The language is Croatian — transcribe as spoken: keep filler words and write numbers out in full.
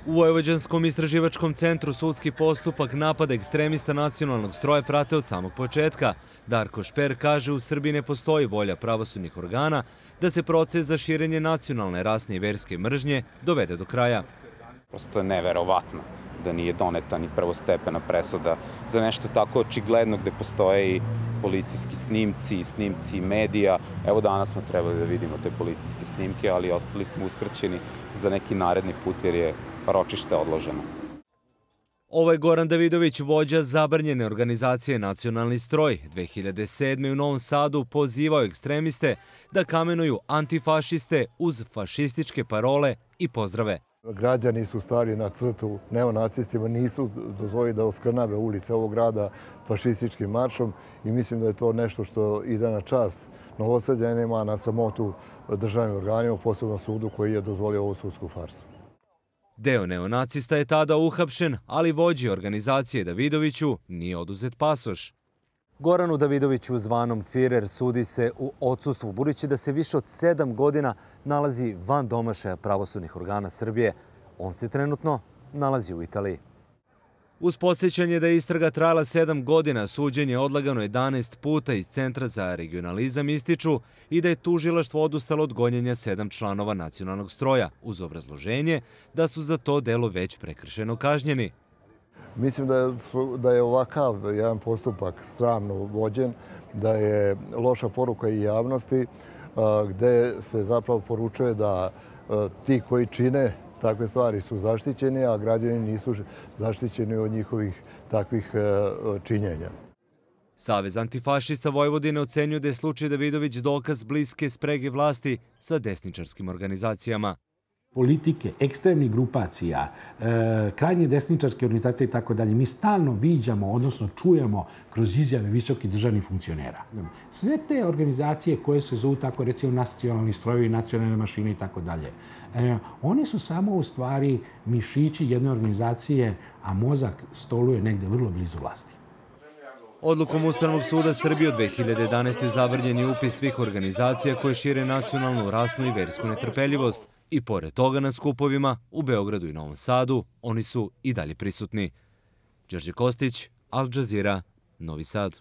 U Vojvođanskom istraživačkom centru sudski postupak napada ekstremista nacionalnog stroja prate od samog početka. Darko Šper kaže u Srbiji ne postoji volja pravosudnih organa da se proces za širenje nacionalne, rasne i verske mržnje dovede do kraja. Prosto je neverovatno da nije doneta ni prvostepena presuda za nešto tako očigledno gde postoje i policijski snimci, snimci medija. Evo danas smo trebali da vidimo te policijske snimke, ali ostali smo uskraćeni za neki naredni put jer je ročište odloženo. Ovo je Goran Davidović, vođa zabranjene organizacije Nacionalni stroj. dve hiljade sedme. u Novom Sadu pozivao ekstremiste da kamenuju antifašiste uz fašističke parole i pozdrave. Građani su stali na crtu neonacistima, nisu dozvolili da oskrnave ulice ovog grada fašističkim maršom i mislim da je to nešto što ide na čast Novosađanima, na sramotu državnim organima, posebno sudu koji je dozvolio ovu sudsku farsu. Deo neonacista je tada uhapšen, ali vođi organizacije Davidoviću nije oduzet pasoš. Goranu Davidoviću zvanom Firer sudi se u odsustvu, budući da se više od sedam godina nalazi van domašaja pravosudnih organa Srbije. On se trenutno nalazi u Italiji. Uz podsjećanje da je istraga trajala sedam godina, suđenje odlagano jedanaest puta iz Centra za regionalizam ističu i da je tužilaštvo odustalo od gonjenja sedam članova nacionalnog stroja, uz obrazloženje da su za to delo već prekršeno kažnjeni. Mislim da je, da je ovakav jedan postupak sramno vođen, da je loša poruka i javnosti, gde se zapravo poručuje da ti koji čine takve stvari su zaštićeni, a građani nisu zaštićeni od njihovih takvih činjenja. Savez antifašista Vojvodine ocenjuje da je slučaj Davidović dokaz bliske sprege vlasti sa desničarskim organizacijama. Politike, ekstremnih grupacija, krajnje desničarske organizacije i tako dalje, mi stalno viđamo, odnosno čujemo kroz izjave visokih državnih funkcionera. Sve te organizacije koje se zovu tako recimo nacionalni strojevi, nacionalne mašine i tako dalje, one su samo u stvari mišići jedne organizacije, a mozak stoluje negde vrlo blizu vlasti. Odlukom Ustavnog suda Srbije od dve hiljade jedanaeste. zabranjen je upis svih organizacija koje šire nacionalnu, rasnu i versku netrpeljivost. I pored toga na skupovima u Beogradu i Novom Sadu oni su i dalje prisutni. Đorđe Kostić, Al Džazira, Novi Sad.